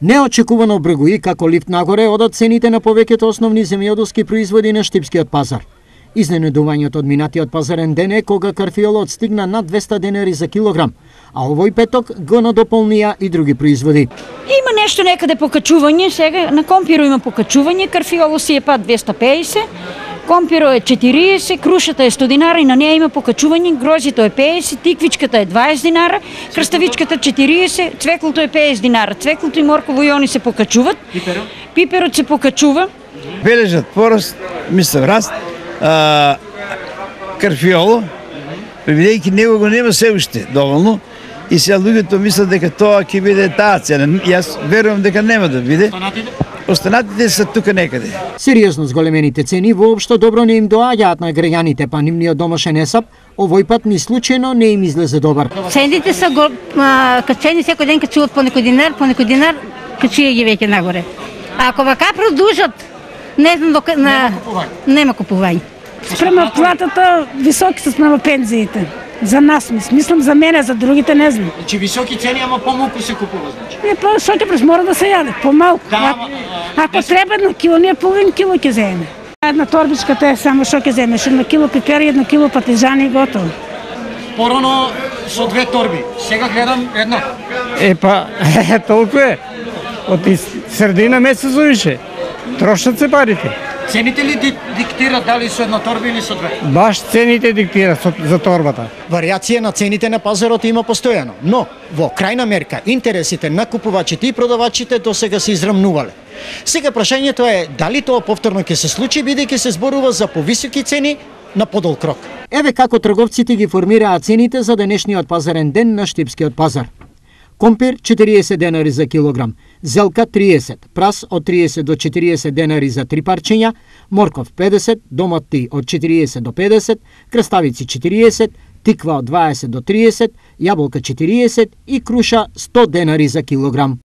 Неочекувано бргуи како лифт нагоре одат цените на повеќето основни земјоделски производи на штипскиот пазар. Изненадувањето од минатиот пазарен ден е кога карфиолот стигна над 200 денари за килограм, а овој петок го надополнија и други производи. Има нешто некаде покачување, сега на компиро има покачување, карфиоло си е пат 250, компиро е 40, крушата е 100 динара и на неја има покачување, грозито е 50, тиквичката е 20 динара, крставичката 40, цвеклото е 50 динара. Цвеклото и морково и они се покачуват. Пиперот се покачува. Бележат порост, мислам раст, карфиоло, бидејќи него го нема се уште доволно, и сега луѓето мислат дека тоа ќе биде таа цена. Јас верувам дека нема да биде. Останатите се тука некаде. Сериозно зголемените цени воопшто добро не им доаѓаат на граѓаните, па нивниот домашен есап овој пат ни случајно не им излезе добар. Цените се качени, секој ден качуваат по некој динар, качија ги веќе нагоре. А ако вака продолжат, не знам дока нема купување. Спрема платата, високи се спрема пензиите. За нас мислам, за мене, за другите не знам. Значи високи цени, ама помалку се купува, значи. Не, шоќе преш мора да се јаде, помалку. Ако треба на кило, ние половин кило ќе земеме. Една торбичката е само што ќе земеш, 1 кило пипери, 1 кило патижани и готово. Порано со 2 торби, сега гледам една. Толку е. Од средина месец завише. Трошат се парите. Цените ли диктират дали со една торба или со 2? Баш цените диктират за торбата. Варијација на цените на пазарот има постојано, но во крајна мерка интересите на купувачите и продавачите досега се израмнувале. Сега прашањето е дали тоа повторно ќе се случи, бидејќи се зборува за повисоки цени на подолг рок. Еве како трговците ги формираат цените за денешниот пазарен ден на штипскиот пазар. Компир 40 денари за килограм, зелка 30, прас од 30 до 40 денари за 3 парчиња, морков 50, домати од 40 до 50, краставици 40, тиква од 20 до 30, јаболка 40 и круша 100 денари за килограм.